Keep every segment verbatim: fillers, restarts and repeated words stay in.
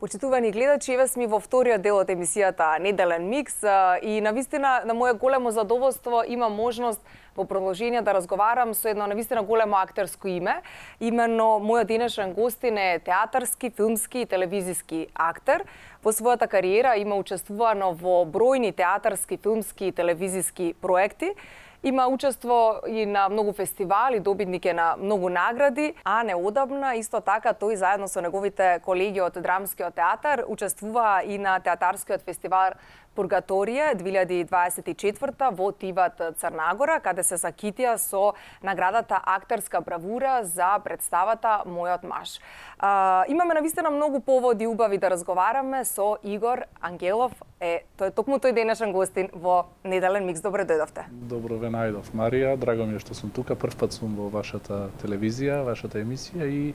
Почитувани гледачи, еве сме во вториот дел од емисијата Неделен микс и навистина на моје големо задоволство има можност во продолжение да разговарам со едно навистина големо актерско име. Именно мојот денешен гостин е театарски, филмски и телевизиски актер. Во својата кариера има учествувано во бројни театарски, филмски и телевизиски проекти. Има учество и на многу фестивали, добитник е на многу награди, а неодамна исто така тој заедно со неговите колеги од Драмскиот театар учествува и на театарскиот фестивал Пургаторија две илјади дваесет и четврта во Тиват, Црна Гора, каде се закитија со наградата Актерска бравура за представата Мојот маж. А, имаме навистина многу поводи убави да разговараме со Игор Ангелов. Е, тој е токму тој денешен гостин во Неделен микс. Добре дојдовте. Добро ве најдов, Марија. Драго ми е што сум тука. Прв пат сум во вашата телевизија, вашата емисија и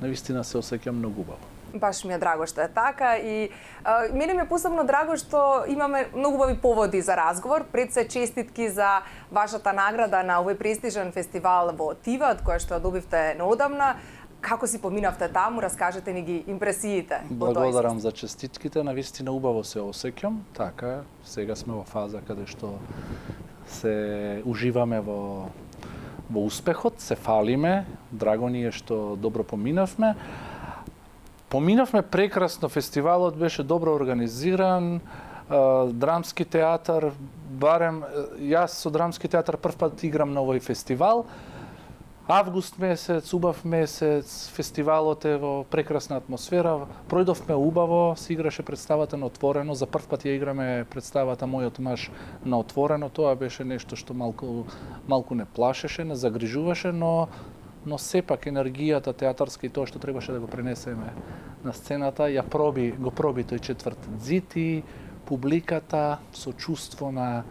навистина се осеќам многу убаво. Баш ми е драго што е така и а, мене ми е посебно драго што имаме многу убави поводи за разговор. Пред се честитки за вашата награда на овој престижен фестивал во Тиват, која што добивте неодамна. Како си поминавте таму? Раскажете ни ги импресиите. Благодарам за честитките, навистина убаво се осеќам. Така, сега сме во фаза каде што се уживаме во во успехот, се фалиме. Драго ни е што добро поминавме. Поминавме прекрасно, фестивалот беше добро организиран, Драмски театар, барем јас со Драмски театар прв пат играм на овој фестивал. Август месец, убав месец, фестивалот е во прекрасна атмосфера. Пројдовме убаво, се играше представата на отворено. За прв пат ја играме представата Мојот маж на отворено. Тоа беше нешто што малку малку не плашеше, не загрижуваше, но но сепак енергијата театарска и тоа што требаше да го пренесеме на сцената, ја проби, го проби тој четврт зид и публиката со чувство на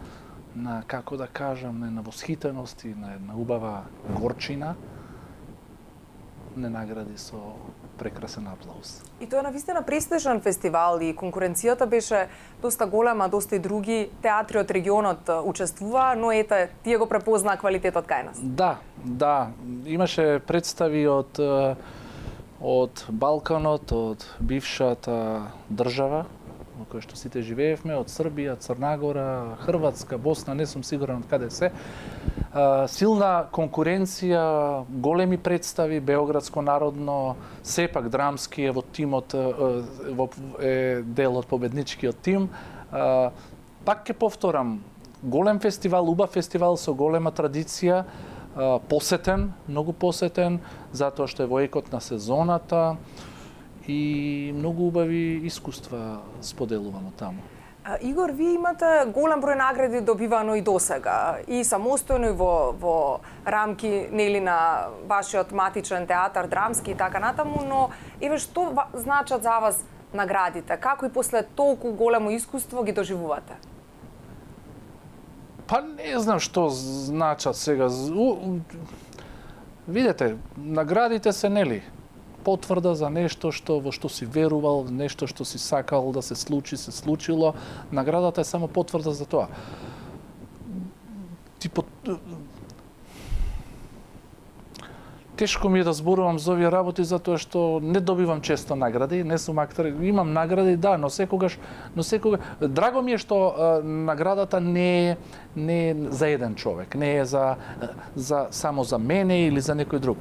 на како да кажам, на восхитеност и на една убава горчина не награди со прекрасен аплауз. И тоа е навистина престижен фестивал и конкуренцијата беше доста голема, доста и други театри од регионот учествуваа, но ете, тие го препознаа квалитетот кај нас. Да, да, имаше представи од од Балканот, од бившата држава во која што сите живеевме, од Србија, Црна Гора, Хрватска, Босна, не сум сигурен од каде се. Силна конкуренција, големи представи, Београдско народно, сепак Драмски е во тимот, во е дел од победничкиот тим. Пак ќе повторам, голем фестивал, убав фестивал со голема традиција, посетен, многу посетен, затоа што е во екот на сезоната и многу убави искуства споделувано таму. Игор, вие имате голем број награди добивано и досега, и самостојно и во, во рамки нели на вашиот матичен театар, Драмски и така натаму, но еве што значат за вас наградите? Како и после толку големо искуство ги доживувате? Па не знам што значат сега. Видете, наградите се нели потврда за нешто што во што си верувал, нешто што си сакал да се случи, се случило. Наградата е само потврда за тоа. Типо тешко ми е да зборувам за овие работи затоа што не добивам често награди, не сум актер, имам награди, да, но секогаш, но секогаш драго ми е што а, наградата не е не е за еден човек, не е за за само за мене или за некој друг.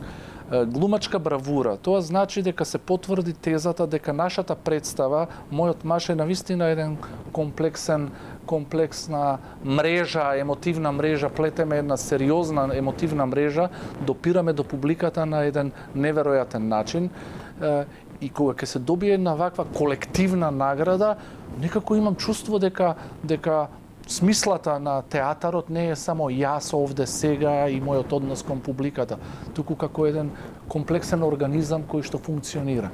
Глумачка бравура, тоа значи дека се потврди тезата дека нашата представа, Мојот маж е навистина еден комплексен, комплексна мрежа, емотивна мрежа, плетеме една сериозна емотивна мрежа, допираме до публиката на еден неверојатен начин и кога ќе се добие една ваква колективна награда, некако имам чувство дека дека смислата на театарот не е само јас овде сега и мојот однос кон публиката, туку како еден комплексен организам кој што функционира.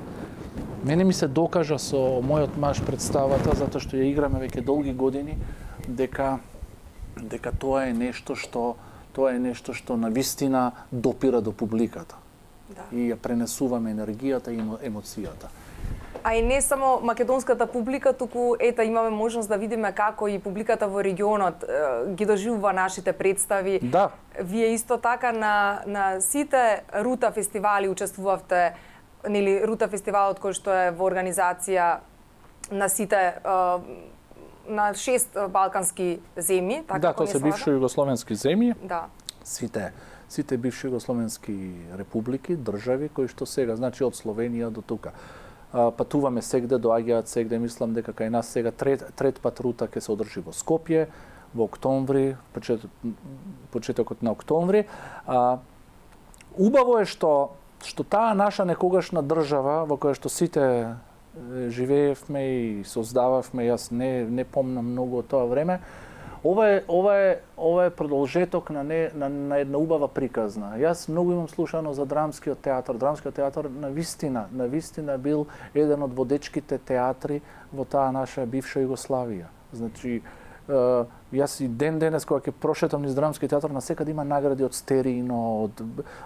Мене ми се докажа со Мојот маж представата, затоа што ја играме веќе долги години, дека дека тоа е нешто што тоа е нешто што навистина допира до публиката. Да. И ја пренесуваме енергијата и емоцијата. А и не само македонската публика, туку ета имаме можност да видиме како и публиката во регионот е, ги доживува нашите представи. Да. Вие исто така на на сите рута фестивали учествувавте нели Рута фестивалот кој што е во организација на сите на шест балкански земји, така да, тоа се бивши југословенски земји. Да. Сите сите бивши југословенски републики, држави кои што сега, значи од Словенија до тука. Патуваме сегде, доаѓаат сегде, мислам дека кај нас сега трет, трет пат Рута ќе се одржи во Скопје во октомври, почет, почетокот на октомври. А, убаво е што што таа наша некогашна држава во која што сите живеевме и создававме, јас не не помнам многу од тоа време. Ова е ова е ова е продолжеток на не на, на една убава приказна. Јас многу имам слушано за драмскиот театар. Драмскиот театар на вистина, на вистина бил еден од водечките театри во таа наша бивша Југославија. Значи јас и ден денес кога ќе прошетам низ драмски театар, насекаде има награди од Стерино, од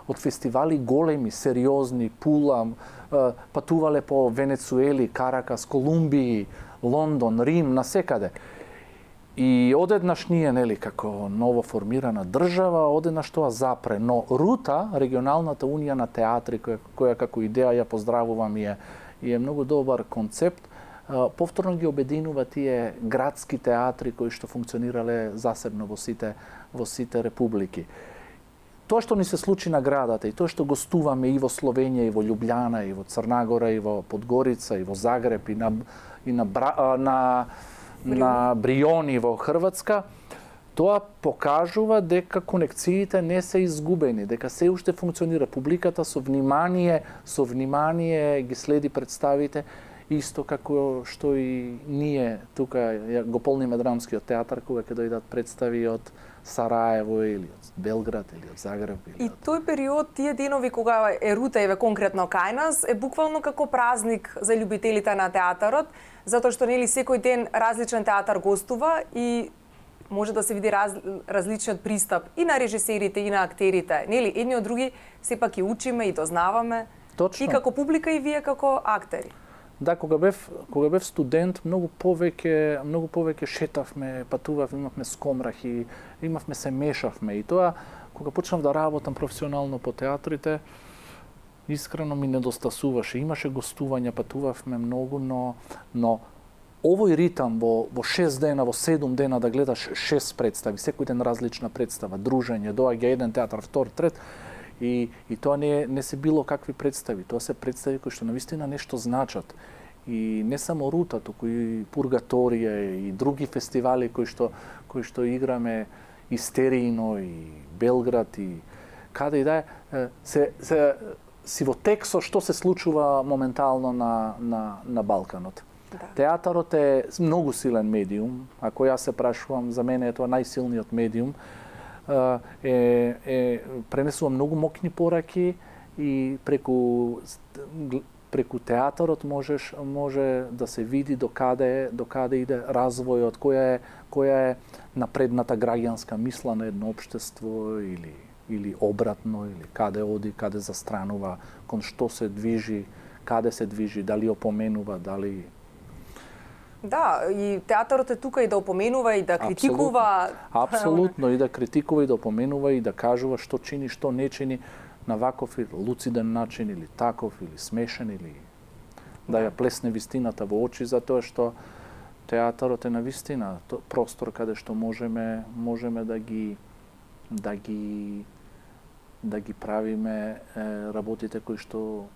од фестивали големи, сериозни, Пула, патувале по Венецуели, Каракас, Колумбија, Лондон, Рим, насекаде. И одеднаш ние, нели, како ново формирана држава, одеднаш тоа запре. Но Рута, регионалната унија на театри, која, која како идеја ја поздравувам и е, и е многу добар концепт, повторно ги обединува тие градски театри кои што функционирале засебно во сите во сите републики. Тоа што ни се случи на градата и тоа што гостуваме и во Словенија, и во Љубљана, и во Црнагора, и во Подгорица, и во Загреб, и на и на Бра, на на Бриони во Хрватска, тоа покажува дека конекциите не се изгубени, дека се уште функционира. Публиката со внимание, со внимание ги следи представите, исто како што и ние тука го полниме драмскиот театар кога ќе дојдат представи од Сараево или од Белград или од Загреб. Или и од... тој период, тие денови кога е Рута еве конкретно кај нас, е буквално како празник за љубителите на театарот, затоа што нели секој ден различен театар гостува и може да се види раз, различниот пристап и на режисерите и на актерите. Нели едни од други сепак и учиме и дознаваме. Точно. И како публика и вие како актери. Да, кога бев кога бев студент, многу повеќе многу повеќе шетавме, патувавме, имавме скомрахи, имавме се мешавме и тоа кога почнав да работам професионално по театрите, искрено ми недостасуваше. Имаше гостувања, патувавме многу, но но овој ритам во во шест дена, во седум дена да гледаш шест представи, секој ден различна представа, дружење, доаѓа еден театар, втор, трет. И, и тоа не, не се било какви представи, тоа се представи кои што навистина нешто значат. И не само Рута, туку и Пургаторија и други фестивали кои што кои што играме и Стерино и Белград и каде и да е, се се си во тек со што се случува моментално на на на Балканот. Да. Театарот е многу силен медиум, ако јас се прашувам, за мене е тоа најсилниот медиум. Е, е пренесува многу мокни пораки и преку преку театарот можеш може да се види до каде до каде иде развојот, која е која е напредната граѓанска мисла на едно општество или или обратно, или каде оди, каде застранува, кон што се движи, каде се движи, дали опоменува, дали... Да, и театарот е тука и да опоменува, и да критикува. Апсолутно, Апсолутно и да критикува, и да опоменува, и да кажува што чини, што не чини, на ваков или луциден начин, или таков, или смешен, или да ја плесне вистината во очи, затоа што театарот е на вистина простор каде што можеме можеме да ги да ги да ги правиме е, работите кои што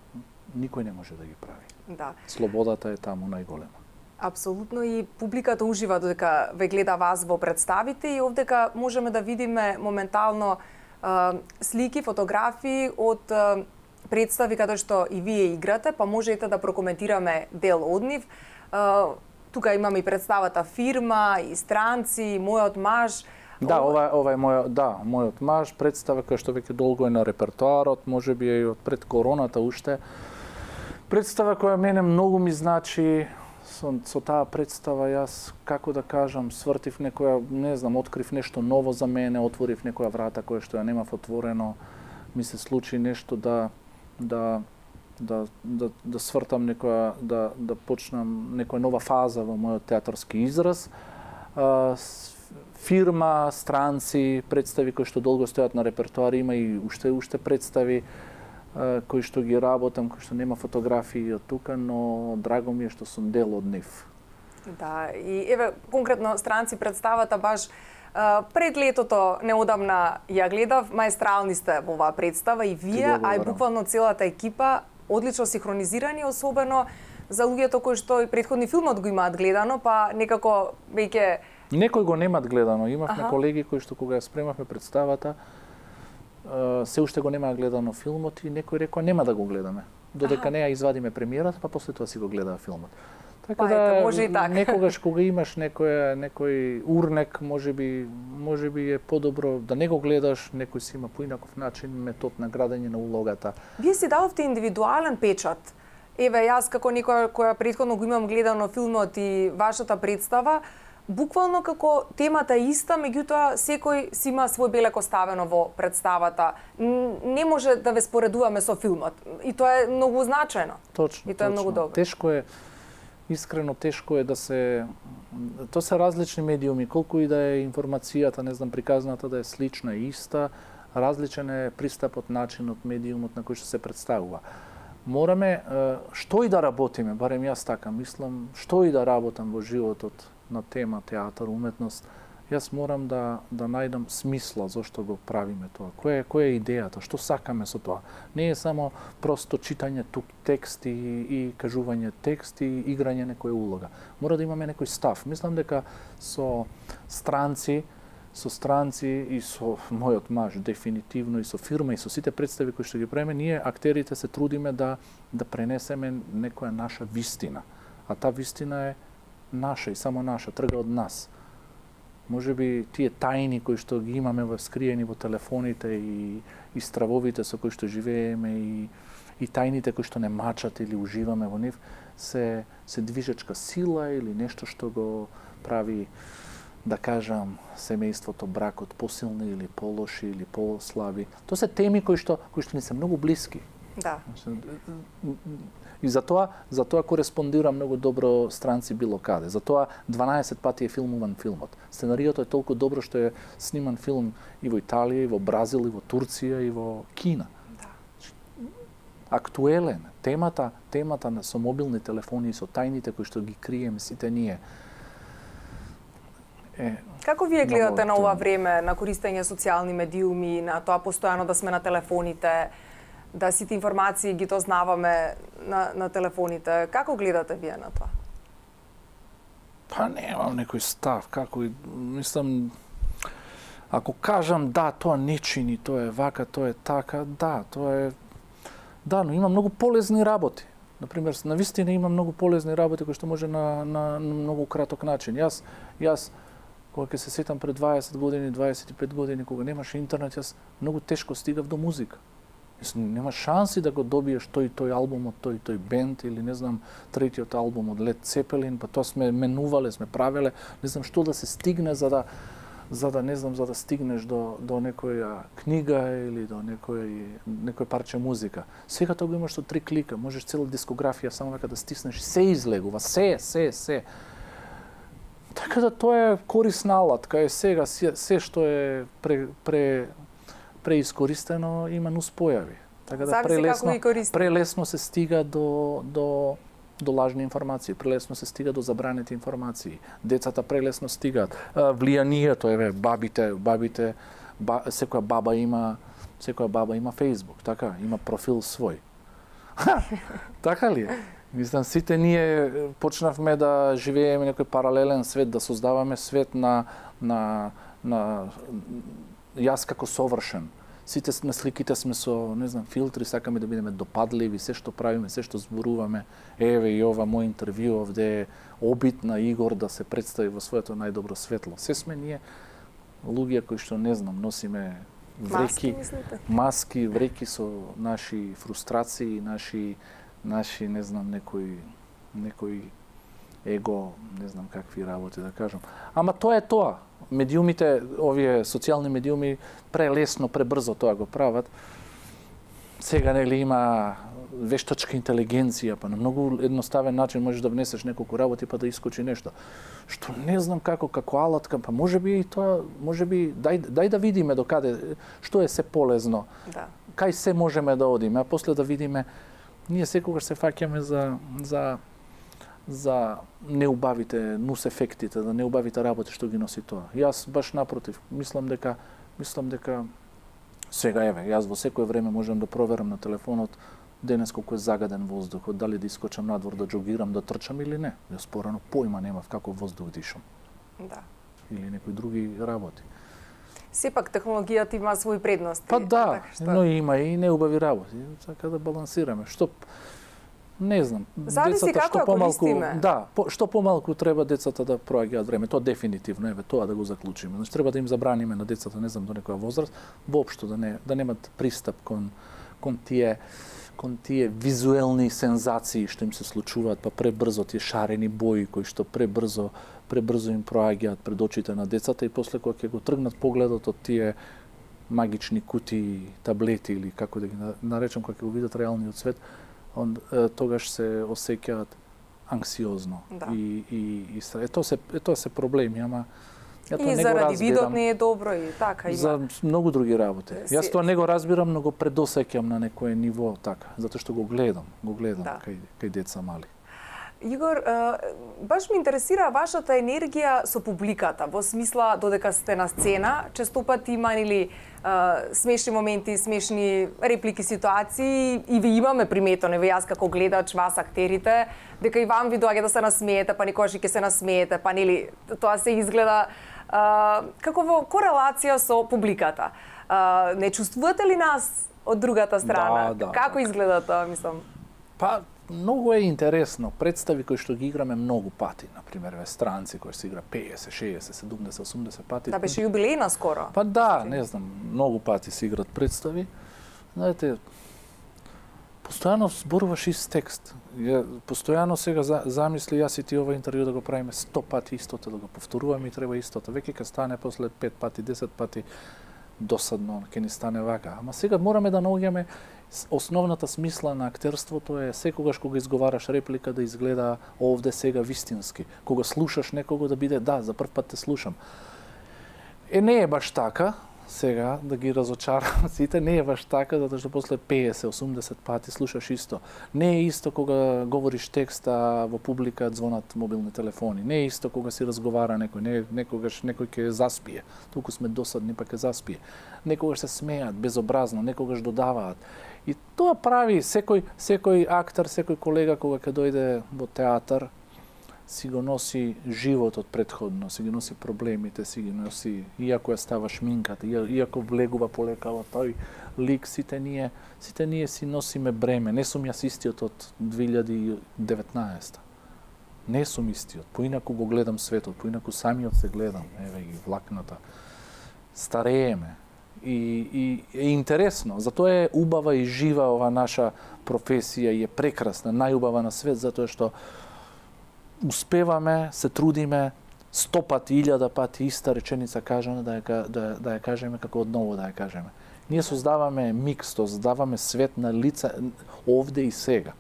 никој не може да ги прави. Да. Слободата е таму најголема. Апсолутно, и публиката ужива додека ве гледа вас во представите и овдека можеме да видиме моментално а, слики, фотографии од а, представи каде што и вие играте, па можете да прокоментираме дел од нив. А, тука имаме и представата Фирма, и Странци, и Мојот маж. Да, ова, ова е мој, да, мојот маж, представа која што веќе долго е на репертоарот, можеби е и од пред короната уште. Представа која мене многу ми значи, со, со таа представа јас, како да кажам, свртив некоја, не знам, открив нешто ново за мене, отворив некоја врата која што ја немав отворено, ми се случи нешто да да да да, да свртам некоја, да да почнам некоја нова фаза во мојот театарски израз. Фирма, Странци, представи кои што долго стојат на репертоар, има и уште уште представи. кои што ги работам, кои што нема фотографии од тука, но драго ми е што сум дел од нив. Да, и еве конкретно странци представата баш пред летото неодамна ја гледав, маестрални сте во оваа представа и вие, а и буквално целата екипа, одлично синхронизирани, особено за луѓето кои што и претходни филмот го имаат гледано, па некако веќе некои го немаат гледано. Имавме Аха. колеги кои што кога ја спремавме представата, се уште го немаа гледано филмот и некој рекоа нема да го гледаме. Додека не ја извадиме премиерата, па после тоа си го гледаа филмот. Така па, да, ето, може и така. некогаш кога имаш некој некој урнек, можеби можеби е подобро да не го гледаш, некој си има поинаков начин, метод на градење на улогата. Вие си дадовте индивидуален печат. Еве, јас како некоја која претходно го имам гледано филмот и вашата представа, буквално како темата е иста, меѓутоа секој си има свој белек оставено во представата. Не може да ве споредуваме со филмот. И тоа е многу значајно. Точно. И тоа е точно. многу добро. Тешко е, искрено тешко е да се... Тоа се различни медиуми, колку и да е информацијата, не знам, приказната да е слична и иста, различен е пристапот, начинот, медиумот на кој што се представува. Мораме, што и да работиме, барем јас така мислам, што и да работам во животот на тема театар, уметност, јас морам да да најдам смисла зошто го правиме тоа. Која е која е идејата, што сакаме со тоа? Не е само просто читање тук текст и, и кажување текст и играње некоја улога. Мора да имаме некој став. Мислам дека со странци, со странци и со мојот маж дефинитивно и со фирма и со сите представи кои што ги правиме, ние актерите се трудиме да да пренесеме некоја наша вистина. А таа вистина е наша и само наша, трга од нас. Може би тие тајни кои што ги имаме во скриени во телефоните и, и стравовите со кои што живееме и, и тајните кои што не мачат или уживаме во нив, се, се движечка сила или нешто што го прави, да кажам, семејството, бракот посилни или полоши или послаби. Тоа се теми кои што, кои што ни се многу блиски. Да. И затоа, затоа кореспондира многу добро странци било каде. Затоа дванаесет пати е филмуван филмот. Сценариото е толку добро што е сниман филм и во Италија, и во Бразил, и во Турција, и во Кина. Да. Актуелен. Темата, темата на со мобилни телефони и со тајните кои што ги криеме сите ние. Е, Како вие гледате на ова актуелно. време, на користење социјални медиуми, на тоа постојано да сме на телефоните, да сите информации ги дознаваме на, на телефоните? Како гледате вие на тоа? Па немам некој став, како и мислам, ако кажам да, тоа не чини, тоа е вака, тоа е така, да, тоа е да, но има многу полезни работи. Например, навистина има многу полезни работи кои што може на, на, на многу краток начин. Јас јас кога ќе се сетам пред дваесет години, дваесет и пет години кога немаше интернет, јас многу тешко стигав до музика. Нема шанси да го добиеш тој тој албум од тој тој бенд или не знам третиот албум од Led Zeppelin, па тоа сме менувале, сме правеле, не знам што да се стигне за да за да не знам за да стигнеш до до некоја книга или до некој некој парче музика. Сега тоа го имаш со три клика, можеш цела дискографија само века да стиснеш, се излегува, се, се, се. Така да тоа е корисна алатка, е сега се, се што е пре, пре преискористено има нуспојави. Така да Зависи прелесно, како ги користиме. прелесно се стига до, до, до лажни информации, прелесно се стига до забранети информации. Децата прелесно стигаат. А, влијанието, еве, бабите, бабите, ба, секоја баба има, секоја баба има Facebook, така, има профил свој. Така ли е? Мислам, сите ние почнавме да живееме некој паралелен свет, да создаваме свет на, на, на јас како совршен. Сите на сликите сме со, не знам, филтри, сакаме да бидеме допадливи, се што правиме, се што зборуваме. Еве и ова мој интервју овде е обид на Игор да се представи во своето најдобро светло. Се сме ние луѓе кои што, не знам, носиме вреки, маски, маски вреки со наши фрустрации, наши, наши, не знам, некои, некои его, не знам какви работи да кажам. Ама тоа е тоа. Медиумите, овие социјални медиуми, прелесно, пребрзо тоа го прават. Сега нели има вештачка интелигенција, па на многу едноставен начин можеш да внесеш неколку работи па да искочи нешто. Што не знам како, како алатка, па можеби и тоа, можеби, дај, дај да видиме до каде, што е се полезно. Да. кај се можеме да одиме, а после да видиме, ние секогаш се фаќаме за за за неубавите нус ефектите, да неубавите работи што ги носи тоа. Јас баш напротив, мислам дека мислам дека сега еве, јас во секое време можам да проверам на телефонот денес колку е загаден воздухот, дали да искочам надвор да џогирам, да трчам или не. Јас порано појма немав како воздух дишам. Да. Или некои други работи. Сепак технологијата има своји предности. Па да, така што... но има и неубави работи. Така да балансираме. Што не знам, зависи децата како што помалку, користиме. да, по, што помалку треба децата да проаѓаат време. Тоа дефинитивно, еве, тоа да го заклучиме. Значи треба да им забраниме на децата, не знам до некоја возраст, воопшто да не да немат пристап кон кон тие кон тие визуелни сензации што им се случуваат, па пребрзо тие шарени бои кои што пребрзо пребрзо им проаѓаат пред очите на децата и после кога ќе го тргнат погледот од тие магични кутии, таблети или како да ги наречам, кога ќе го видат реалниот свет, он тогаш се осеќаат анксиозно. Да. И и и е тоа се е тоа се проблеми, ама ја тоа и не го заради разбирам. видот не е добро и така има. За многу други работи. Се... Јас тоа не го разбирам, но го предосеќам на некое ниво така, затоа што го гледам, го гледам Да. кај кај деца мали. Игор, баш ме интересира вашата енергија со публиката, во смисла додека сте на сцена, често пати има нели смешни моменти, смешни реплики, ситуации и ви имаме приметено, еве јас како гледач, вас актерите, дека и вам ви доаѓа да се насмеете, па некогаш и ќе се насмеете, па нели тоа се изгледа а, како во корелација со публиката. А, не чувствувате ли нас од другата страна? Да, да, како така. изгледа тоа, мислам? Па многу е интересно. Представи кои што ги играме многу пати, на пример, ве странци кои се игра педесет, шеесет, седумдесет, осумдесет пати. Да, беше јубилејна скоро. Па да, не знам, многу пати се играт представи. Знаете, постојано зборуваш ист текст. Ја, постојано сега за, замисли јас и ти ова интервју да го правиме сто пати истото, да го повторуваме и треба истото. Веќе ќе стане после пет пати, десет пати досадно, ќе ни стане вака. Ама сега мораме да наоѓаме основната смисла на актерството е секогаш кога изговараш реплика да изгледа овде сега вистински. Кога слушаш некого да биде да, за прв пат те слушам. Е не е баш така, сега да ги разочарам сите, не е баш така затоа што после педесет, осумдесет пати слушаш исто. Не е исто кога говориш текст а во публика звонат мобилни телефони. Не е исто кога си разговара некој, не некогаш некој ќе заспие. Толку сме досадни па ќе заспие. Некогаш се смеат безобразно, некогаш додаваат. И тоа прави секој секој актер, секој колега кога ќе дојде во театар, си го носи животот предходно, си ги носи проблемите, си ги носи, иако ја става шминката, иако влегува полека во тој лик, сите ние, сите ние си носиме бреме. Не сум јас истиот од две илјади и деветнаесета. Не сум истиот. Поинаку го гледам светот, поинаку самиот се гледам, еве ги влакната. Старееме. И, и е интересно, затоа е убава и жива ова наша професија и е прекрасна, најубава на свет, затоа што успеваме, се трудиме, сто пати, илјада пати иста реченица кажана да ја, да, да ја кажеме како одново да ја кажеме. Ние создаваме микс, создаваме свет на лица овде и сега.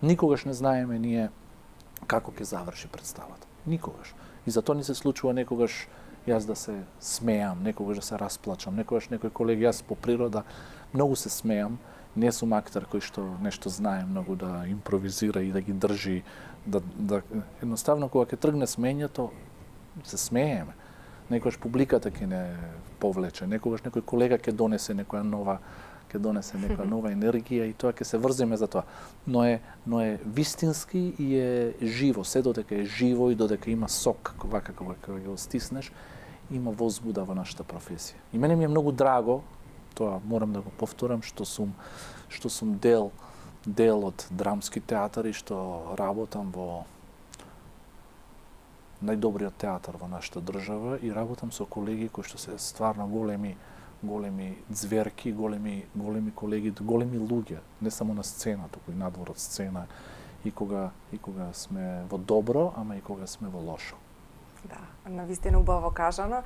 Никогаш не знаеме ние како ќе заврши представата. Никогаш. И затоа ни се случува некогаш јас да се смеам, некогаш да се расплачам, некогаш некој колег, јас по природа многу се смеам, не сум актер кој што нешто знае многу да импровизира и да ги држи, да, да едноставно кога ќе тргне смењето, се смееме. Некогаш публиката ќе не повлече, некогаш некој колега ќе донесе некоја нова ќе донесе некоја нова енергија и тоа ќе се врзиме за тоа. Но е но е вистински и е живо, се додека е живо и додека има сок, вака кога кога го стиснеш, има возбуда во нашата професија. И мене ми е многу драго, тоа морам да го повторам, што сум што сум дел дел од драмски театар и што работам во најдобриот театар во нашата држава и работам со колеги кои што се стварно големи големи ѕверки, големи големи колеги, големи луѓе, не само на сцена, туку и надвор од сцена и кога и кога сме во добро, ама и кога сме во лошо. Да, навистина убаво кажано.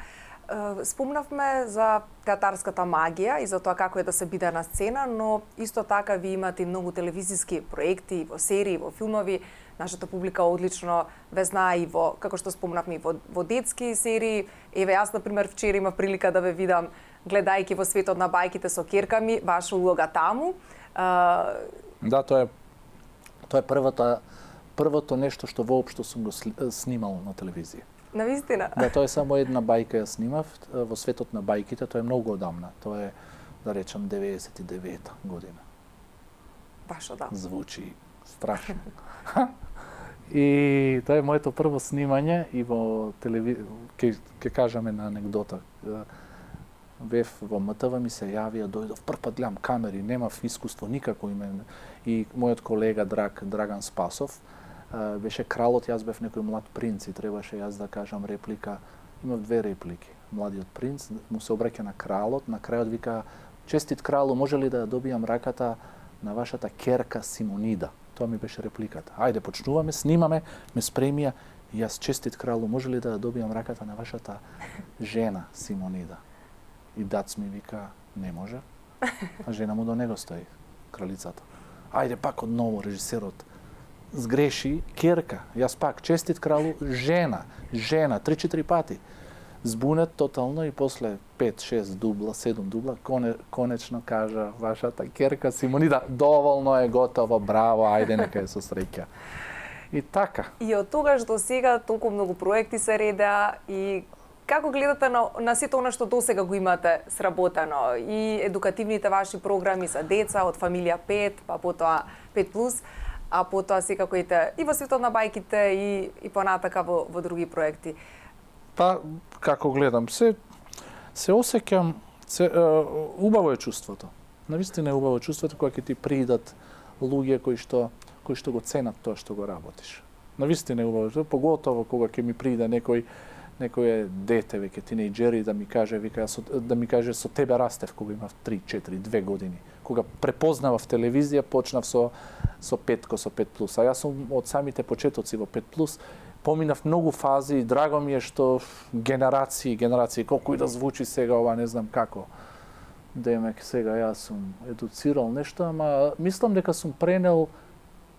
Спомнавме за театарската магија и за тоа како е да се биде на сцена, но исто така ви имате многу телевизиски проекти, во серии, во филмови. Нашата публика одлично ве знае и во, како што спомнавме, и во, во детски серии. Еве, јас, например, вчера имав прилика да ве видам гледајќи во светот на бајките со ќерка ми, ваша улога таму. Да, тоа е тоа е првата првото нешто што воопшто сум го снимал на телевизија. Навистина? Да, тоа е само една бајка ја снимав во светот на бајките, тоа е многу одамна. Тоа е, да речам, деветдесет и девета година. Баш одамна. Звучи страшно. И тоа е моето прво снимање и во телевизија, ќе ќе кажаме на анегдота. Бев во М Т В, ми се јавија, дојдов, прв пат гледам камери, немав искуство никако име. И мојот колега драг Драган Спасов беше кралот, јас бев некој млад принц и требаше јас да кажам реплика. Имав две реплики. Младиот принц му се обраќа на кралот, на крајот вика: "Честит кралу, може ли да добијам раката на вашата ќерка Симонида?" Тоа ми беше репликата. Ајде, почнуваме, снимаме, ме спремија. И јас: "Честит кралу, може ли да добијам раката на вашата жена Симонида?" И дац ми вика: "Не може." А жена му до него стои, кралицата. Ајде пак одново режисерот сгреши, ќерка. Јас пак: "Честит кралу, жена, жена", три-четири пати. Збунет тотално и после пет-шест дубла, седум дубла, коне, конечно кажа: "Вашата ќерка Симонида, доволно е, готово, браво, ајде нека е со среќа." И така. И од тогаш до сега толку многу проекти се редеа и како гледате на, на сето она што досега го имате сработено и едукативните ваши програми за деца од фамилија пет, па потоа пет плюс, а потоа секако и во светот на бајките и и понатака во во други проекти. Па како гледам, се се осеќам, се е, убаво е чувството. Навистина е убаво чувството кога ќе ти придат луѓе кои што кои што го ценат тоа што го работиш. Навистина е убаво, поготово кога ќе ми прида некој некој дете веќе тинејџери да ми каже, вика, со, да ми каже со тебе растев кога имав три-четири, две години. Кога препознавав телевизија, почнав со со петко, со пет плюс. А јас сум од самите почетоци во пет плюс. Поминав многу фази и драго ми е што генерации, генерации, колку и да звучи сега ова, не знам како. Демек сега јас сум едуцирал нешто, ама мислам дека сум пренел,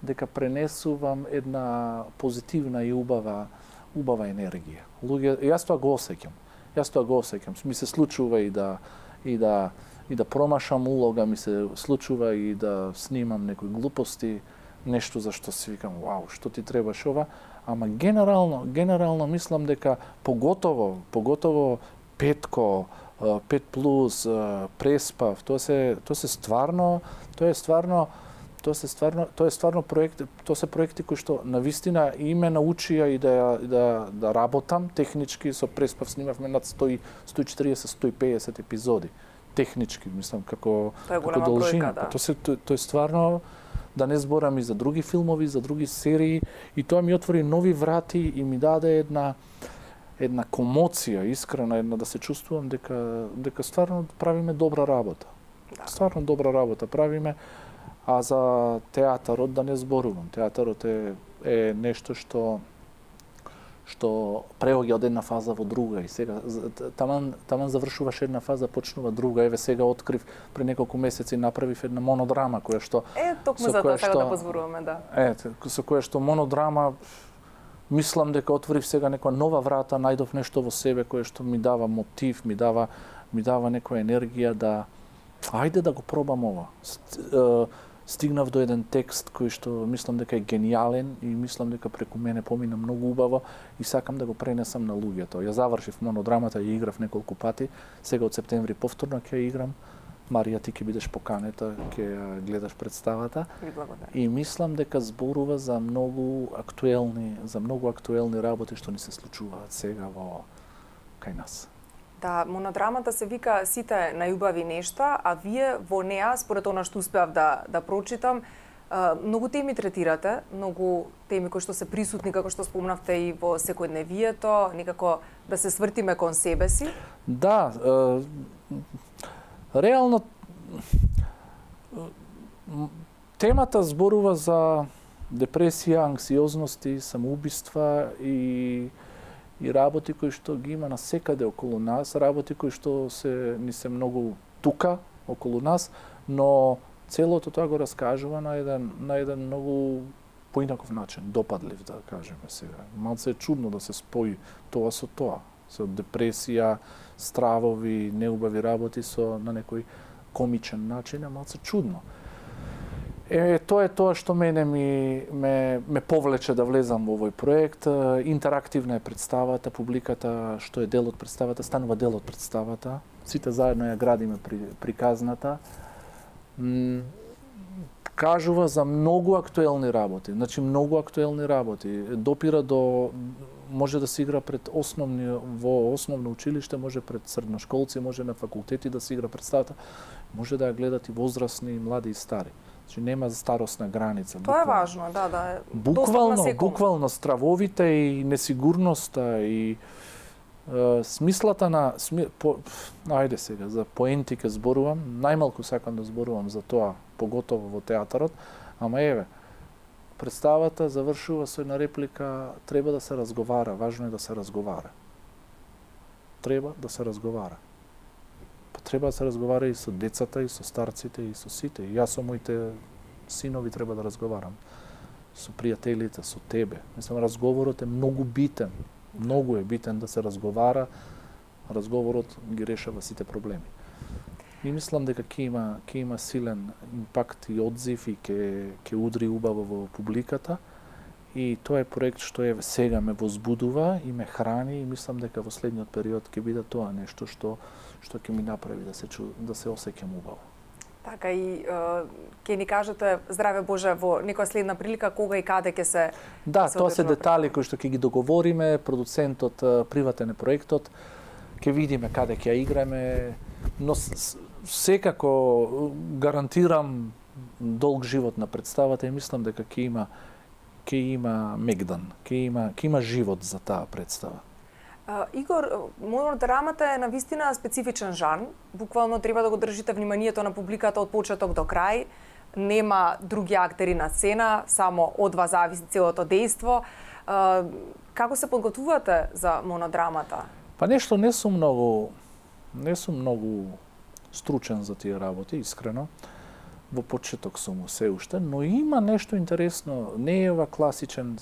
дека пренесувам една позитивна и убава убава енергија. Луѓе, јас тоа го осеќам. Јас тоа го осеќам. Ми се случува и да и да и да промашам улога, ми се случува и да снимам некои глупости, нешто за што си викам: "Вау, што ти требаше ова?" Ама генерално, генерално мислам дека поготово, поготово петко, пет плюс, преспав, тоа се тоа се стварно, тоа е стварно Тоа се стварно, тоа е стварно проекти, тоа се проекти кои што навистина и ме научија и да да да работам технички. Со Преспав снимавме над сто и четириесет до сто и педесет епизоди. Технички, мислам, како како должина. Да. Тоа се тоа, тоа е стварно, да не зборам и за други филмови, за други серии, и тоа ми отвори нови врати и ми даде една една комоција, искрена, една да се чувствувам дека дека стварно правиме добра работа. Да. Стварно добра работа правиме. А за театарот да не зборувам. Театарот е, е нешто што што преоѓа од една фаза во друга и сега таман таман завршуваш една фаза, почнува друга. Еве сега открив пред неколку месеци направив една монодрама која што Е, токму за тоа сега да позборуваме, да. Е, со која што монодрама мислам дека отворив сега некоја нова врата, најдов нешто во себе кое што ми дава мотив, ми дава ми дава некоја енергија да ајде да го пробам ова. Стигнав до еден текст кој што мислам дека е гениален и мислам дека преку мене помина многу убаво и сакам да го пренесам на луѓето. Ја завршив монодрамата и играв неколку пати. Сега од септември повторно ќе играм. Марија, ти ќе бидеш поканета, ќе гледаш представата. И мислам дека зборува за многу актуелни, за многу актуелни работи што ни се случуваат сега во кај нас. Да, монодрамата се вика "Сите најубави нешта", а вие во неа, според она што успеав да да прочитам, многу теми третирате, многу теми кои што се присутни, како што спомнавте, и во секојдневието, некако да се свртиме кон себе си. Да, реално темата зборува за депресија, анксиозности, самоубиства и и работи кои што ги има насекаде околу нас, работи кои што се ни се многу тука околу нас, но целото тоа го раскажува на еден на еден многу поинаков начин, допадлив, да кажеме сега. Малце е чудно да се спои тоа со тоа. со депресија, стравови, неубави работи со на некој комичен начин, е малце чудно. Е, тоа е тоа што мене ми ме, ме повлече да влезам во овој проект. Интерактивна е представата, публиката што е дел од представата, станува дел од представата. Сите заедно ја градиме при, приказната. М, кажува за многу актуелни работи, значи многу актуелни работи. Допира до, може да се игра пред основни, во основно училиште, може пред средношколци, може на факултети да се игра представата, може да ја гледат и возрастни, и млади и стари. Значи нема старосна граница. Тоа е важно, да, да. Е буквално, буквално стравовите и несигурноста и е, смислата на сми, по, ајде сега за поенти ке зборувам, најмалку сакам да зборувам за тоа, поготово во театарот, ама еве, представата завршува со една реплика: треба да се разговара, важно е да се разговара. Треба да се разговара. Па треба да се разговара и со децата, и со старците, и со сите. И јас со моите синови треба да разговарам. Со пријателите, со тебе. Мислам, разговорот е многу битен. Многу е битен да се разговара. Разговорот ги решава сите проблеми. И мислам дека ќе има, ќе има силен импакт и одзив и ќе, ќе удри убаво во публиката. И тоа е проект што е сега ме возбудува и ме храни, и мислам дека во следниот период ќе биде тоа нешто што што ќе ми направи да се чу, да се осеќам убаво. Така и ќе ни кажете, здраве Боже, во некоја следна прилика кога и каде ќе се Да, тоа се детали кои што ќе ги договориме, продуцентот, приватен е проектот, ќе видиме каде ќе ја играме, но секако гарантирам долг живот на представата и мислам дека ќе има ќе има мегдан, ќе има ќе има живот за таа представа. Uh, Игор, монодрамата е навистина специфичен жанр. Буквално треба да го држите вниманието на публиката од почеток до крај. Нема други актери на сцена, само од вас зависи целото дејство. Uh, како се подготвувате за монодрамата? Па нешто не сум многу не сум многу стручен за тие работи, искрено. Во почеток сум се уште, но има нешто интересно. Не е ова класичен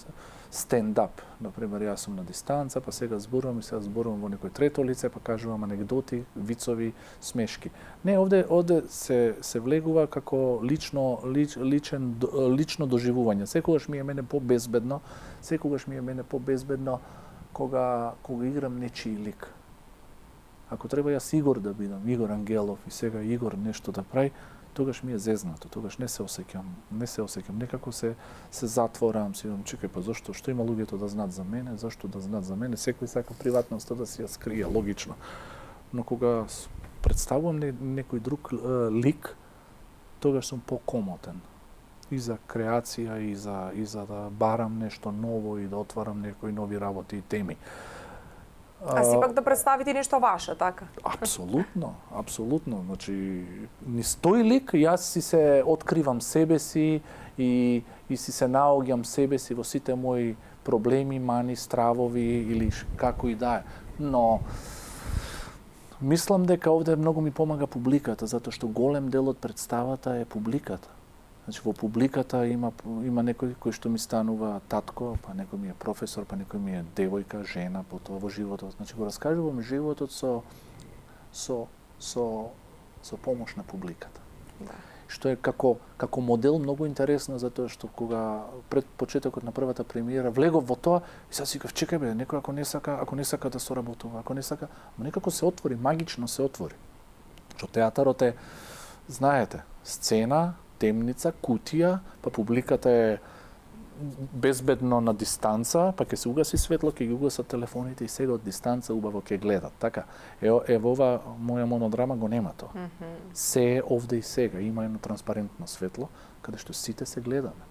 стендап. Например, јас сум на дистанца, па сега зборувам и сега зборувам во некој трето лице, па кажувам анегдоти, вицови, смешки. Не, овде овде се се влегува како лично лич, личен лично доживување. Секогаш ми е мене побезбедно, секогаш ми е мене побезбедно кога кога играм нечии лик. Ако треба јас Игор да бидам, Игор Ангелов, и сега Игор нешто да прави, тогаш ми е зезнато, тогаш не се осеќам, не се осеќам, некако се се затворам, си видам, чекај, па зошто, што има луѓето да знаат за мене, зашто да знаат за мене, секој сака приватноста да си ја скрие, логично. Но кога представувам не, некој друг е, лик, тогаш сум покомотен. И за креација, и за, и за да барам нешто ново, и да отварам некои нови работи и теми. А сепак да представите нешто ваше, така? Апсолутно, апсолутно. Значи, низ тој лик јас си се откривам себе си и, и си се наоѓам себе си во сите мои проблеми, мани, стравови или како и да е. Но мислам дека овде многу ми помага публиката, затоа што голем дел од представата е публиката. Значи, во публиката има, има некој кој што ми станува татко, па некој ми е професор, па некој ми е девојка, жена, потоа во животот. Значи, го раскажувам животот со, со, со, со помош на публиката. Да. Што е како, како модел многу интересно, затоа што кога пред почетокот на првата премиера влегов во тоа, и сега си кажав, чекај бе, некој ако не сака, ако не сака да соработува, ако не сака, но некако се отвори, магично се отвори. Што театарот е, знаете, сцена, темница, кутија, па публиката е безбедно на дистанца, па ќе се угаси светло, ќе ги угасат телефоните и сега од дистанца убаво ќе гледат. Така, е, е во ова моја монодрама го нема тоа. Mm -hmm. Се е овде и сега, има едно транспарентно светло, каде што сите се гледаме.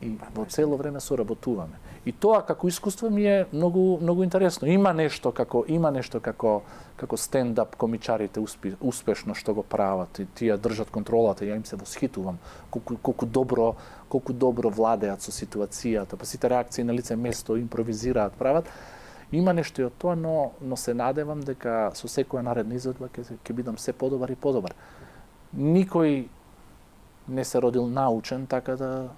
И во цело време соработуваме. И тоа како искуство ми е многу многу интересно. Има нешто како има нешто како како стендап комичарите успе, успешно што го прават и тие држат контролата, ја им се восхитувам колку колку добро колку добро владеат со ситуацијата, па сите реакции на лице место импровизираат, прават. Има нешто и од тоа, но но се надевам дека со секоја наредна изvedба ќе ќе бидам се подобар и подобар. Никој не се родил научен, така да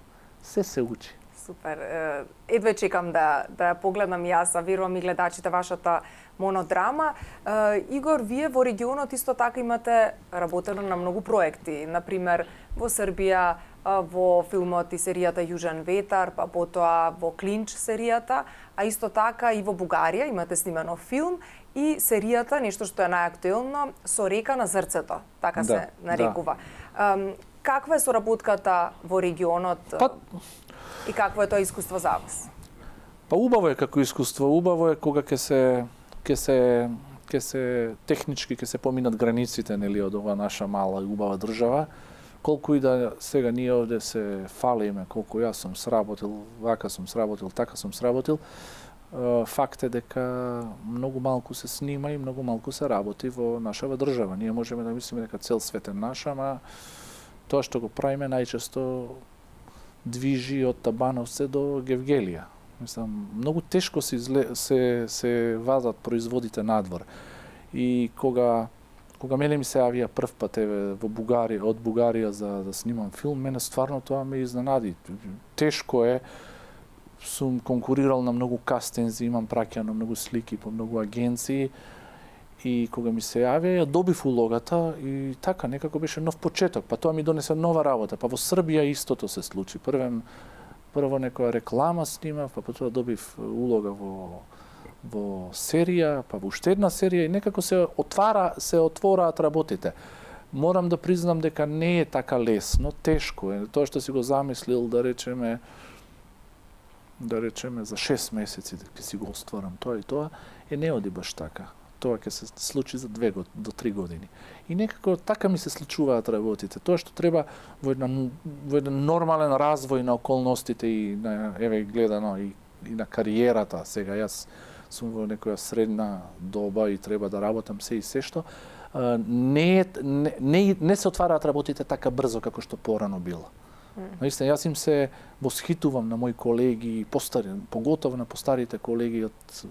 се се учи. Супер. Едве чекам да да погледнам јас, а верувам и гледачите вашата монодрама. Игор, вие во регионот исто така имате работено на многу проекти, например во Србија, во филмот и серијата Јужен ветар, па потоа во Клинч серијата, а исто така и во Бугарија имате снимано филм и серијата, нешто што е најактуелно, Со река на зрцето, така да, се нарекува. Да. Каква е соработката во регионот па... и какво е тоа искуство за вас? Па убаво е како искуство, убаво е кога ќе се ќе се ќе се технички ќе се поминат границите, нели, од ова наша мала и убава држава. Колку и да сега ние овде се фалиме, колку јас сум сработил, вака сум сработил, така сум сработил, факт е дека многу малку се снима и многу малку се работи во нашава држава. Ние можеме да мислиме дека цел свет е наш, ама тоа што го правиме најчесто движи од Табановце до Гевгелија. Мислам, многу тешко се, изле, се, се вазат производите надвор. И кога кога мене ми се јавија прв пат еве во Бугарија, од Бугарија за да снимам филм, мене стварно тоа ме изненади. Тешко е, сум конкурирал на многу кастинзи, имам праќано многу слики по многу агенции и кога ми се јавија, ја добив улогата и така некако беше нов почеток, па тоа ми донесе нова работа. Па во Србија истото се случи. Првен прво некоја реклама снимав, па потоа добив улога во во серија, па во уште една серија и некако се отвара, се отвораат работите. Морам да признам дека не е така лесно, тешко е. Тоа што си го замислил, да речеме, да речеме за шест месеци дека си го остварам тоа и тоа, е не оди баш така. Тоа ќе се случи за две до три години. И некако така ми се случуваат работите. Тоа што треба во една во еден нормален развој на околностите и на еве гледано и, и на кариерата. Сега јас сум во некоја средна доба и треба да работам се и се што, не, не, не, не се отвараат работите така брзо како што порано било. Mm. Наистина, јас им се восхитувам на мои колеги, постари, поготово на постарите колеги од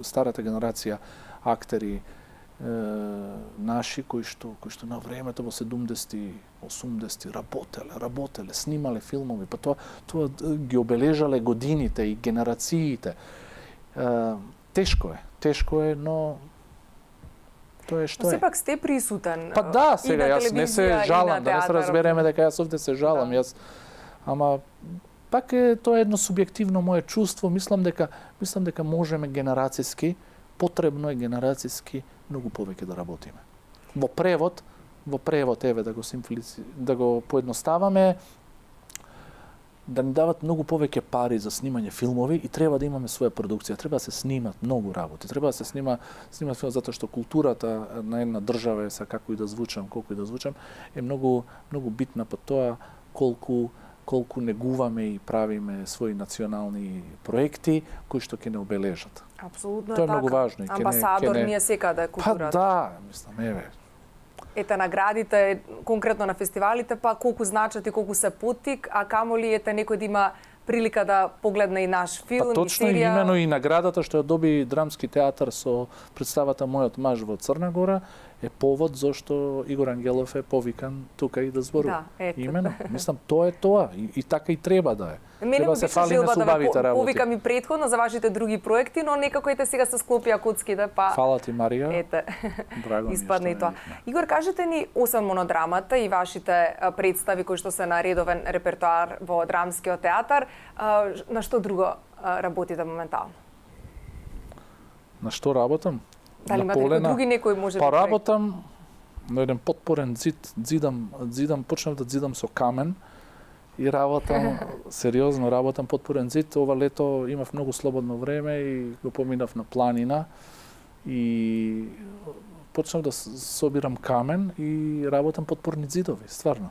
старата генерација актери е, наши кои што кои што на времето во седумдесети, осумдесети работеле, работеле, снимале филмови, па тоа тоа ги обележале годините и генерациите. Е, Тешко е, тешко е, но тоа е што е. Сепак сте присутен. Па да, сега јас не се жалам, да не се разбереме дека јас овде се жалам, да. Јас ама пак е тоа едно субјективно мое чувство, мислам дека мислам дека можеме генерацијски, потребно е генерацијски многу повеќе да работиме. Во превод, во превод еве да го симплици, да го поедноставаме, да ни дават многу повеќе пари за снимање филмови и треба да имаме своја продукција, треба да се снимат многу работи, треба да се снима снима филм затоа што културата на една држава е, са како и да звучам, колку и да звучам, е многу многу битна по тоа колку колку негуваме и правиме своји национални проекти кои што ќе не обележат. Апсолутно тоа е така. многу важно и ќе не Амбасадор не... ние секаде културата. Па да, мислам, еве. Ете наградите конкретно на фестивалите, па колку значат и колку се поттик, а камоли ете некој да има прилика да погледне и наш филм, па, точно и серија. Точно имено и наградата што ја доби Драмски театар со представата Мојот маж во Црна Гора е повод зашто Игор Ангелов е повикан тука и да зборува. Да, ето. Имено, мислам тоа е тоа и, и така и треба да е. Мене треба се фали да ве повикам и претходно за вашите други проекти, но некако ете сега се склопија куцките, па фала ти, Марија. Ете. Драго ми испадне и тоа. Е. Игор, кажете ни, освен монодрамата и вашите представи кои што се на редовен репертоар во Драмскиот театар, на што друго работите моментално? На што работам? Дали имате некои други некои може па работам на еден подпорен зид, зидам, зидам, почнав да зидам со камен и работам, сериозно работам подпорен зид. Ова лето имав многу слободно време и го поминав на планина и почнав да собирам камен и работам подпорни зидови, стварно.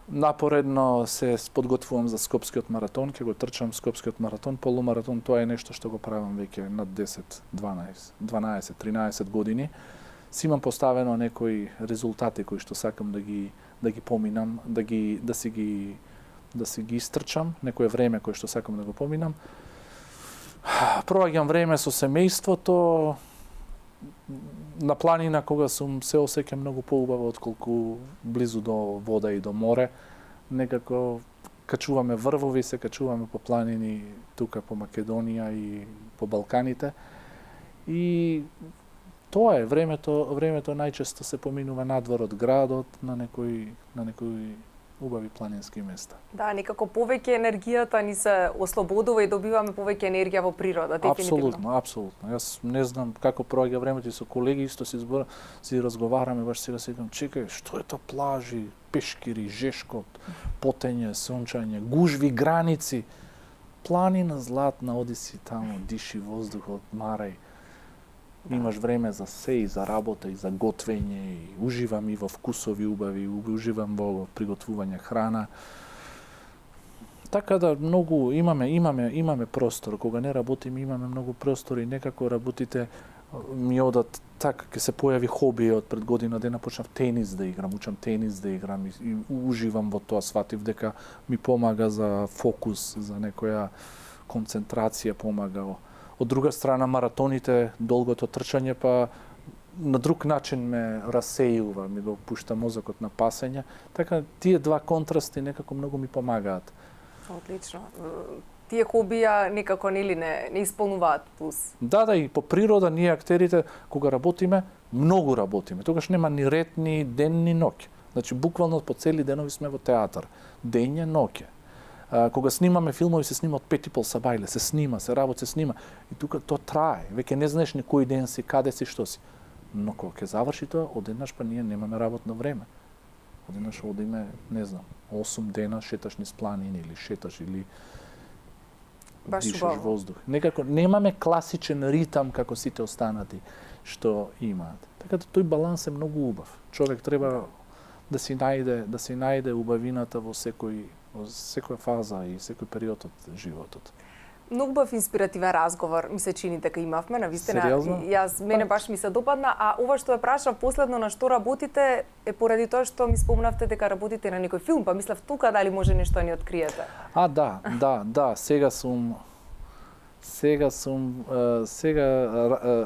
Напоредно се подготвувам за Скопскиот маратон, ќе го трчам Скопскиот маратон, полумаратон, тоа е нешто што го правам веќе над десет, дванаесет, дванаесет, тринаесет години. Си имам поставено некои резултати кои што сакам да ги да ги поминам, да ги да си ги да си ги истрчам, некое време кое што сакам да го поминам. Проваѓам време со семејството, на планина кога сум се осеќам многу поубаво отколку близу до вода и до море. Некако качуваме врвови, се качуваме по планини тука по Македонија и по Балканите. И тоа е времето, времето најчесто се поминува надвор од градот на некои на некои убави планински места. Да, некако повеќе енергијата ни се ослободува и добиваме повеќе енергија во природа, дефинитивно. Апсолутно, апсолутно. Јас не знам како проаѓа времето и со колеги исто си збора, си разговараме, баш сега си викам, чекај, што е тоа плажи, пешкири, жешкот, потење, сончање, гужви, граници. Планина златна, оди си таму, диши воздухот, марај. Имаш време за се, и за работа, и за готвење, и уживам и во вкусови убави, уживам во приготвување храна. Така да многу имаме имаме имаме простор, кога не работиме имаме многу простор и некако работите ми одат така, ќе се појави хоби од пред година дена почнав тенис да играм, учам тенис да играм и, и уживам во тоа, сватив дека ми помага за фокус, за некоја концентрација помага. Од друга страна, маратоните, долгото трчање, па на друг начин ме расејува, ми го пушта мозокот на пасење. Така, тие два контрасти некако многу ми помагаат. Отлично. Тие хобија некако нели не, не исполнуваат плюс. Да, да, и по природа ние актерите, кога работиме, многу работиме. Тогаш нема ни ред, ни ден, ни ноќе. Значи, буквално по цели денови сме во театар. Дење, ноќе. А, кога снимаме филмови, се снима од пет и пол сабајле, се снима, се работи, се снима. И тука тоа трае. Веќе не знаеш ни кој ден си, каде си, што си. Но кога ќе заврши тоа, одеднаш па ние немаме работно време. Одеднаш одиме, не знам, осум дена шеташ низ планини или шеташ или Баш дишаш убаво. воздух. Некако немаме класичен ритам како сите останати што имаат. Така да тој баланс е многу убав. Човек треба да си најде, да си најде убавината во секој во секоја фаза и секој период од животот. Многу бав инспиративен разговор, ми се чини дека имавме, навистина. Сериозно? Јас мене баш ми се допадна, а ова што ја прашав последно на што работите е поради тоа што ми спомнавте дека работите на некој филм, па мислев тука дали може нешто ни откриете. А да, да, да, сега сум сега сум е, сега е,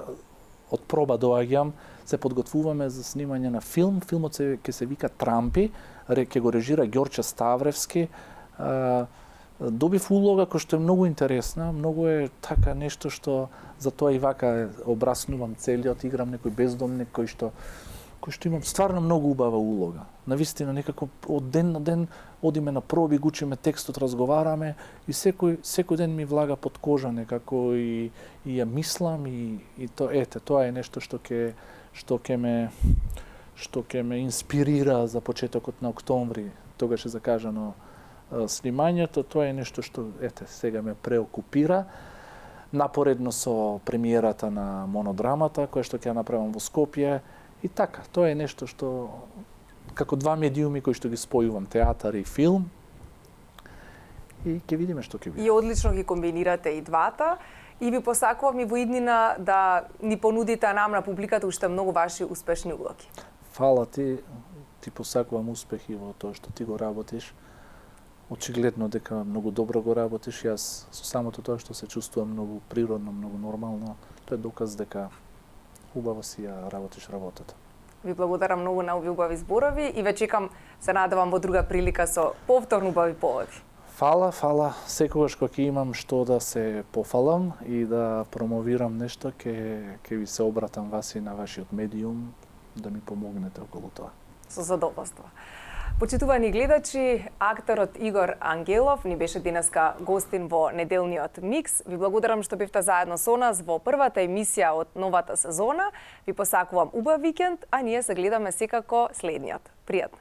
од проба доаѓам, се подготвуваме за снимање на филм. Филмот се ќе се вика Трампи, ќе го режира Ѓорче Ставревски. Добив улога која што е многу интересна, многу е така нешто што за тоа и вака обраснувам целиот, играм некој бездомник кој што кој што имам стварно многу убава улога. Навистина некако од ден на ден одиме на проби, учиме текстот, разговараме и секој секој ден ми влага под кожа некако и и ја мислам и и то ете тоа е нешто што ќе што ќе ме што ќе ме инспирира за почетокот на октомври. Тогаш е закажано снимањето, тоа е нешто што ете сега ме преокупира. Напоредно со премиерата на монодрамата која што ќе ја направам во Скопје и така, тоа е нешто што како два медиуми кои што ги спојувам, театар и филм. И ќе видиме што ќе биде. И одлично ги комбинирате и двата. И ви посакувам и во иднина да ни понудите нам на публиката уште многу ваши успешни улоги. Фала ти, ти посакувам успехи во тоа што ти го работиш. Очигледно дека многу добро го работиш. Јас со самото тоа што се чувствувам многу природно, многу нормално, тоа е доказ дека убаво си ја работиш работата. Ви благодарам многу на овие убави зборови и ве чекам, се надевам во друга прилика со повторно убави поводи. Фала, фала. Секогаш кога ќе имам што да се пофалам и да промовирам нешто, ќе ќе ви се обратам вас и на вашиот медиум да ми помогнете околу тоа. Со задоволство. Почитувани гледачи, актерот Игор Ангелов ни беше денеска гостин во неделниот микс. Ви благодарам што бевте заедно со нас во првата емисија од новата сезона. Ви посакувам убав викенд, а ние се гледаме секако следниот. Пријатно!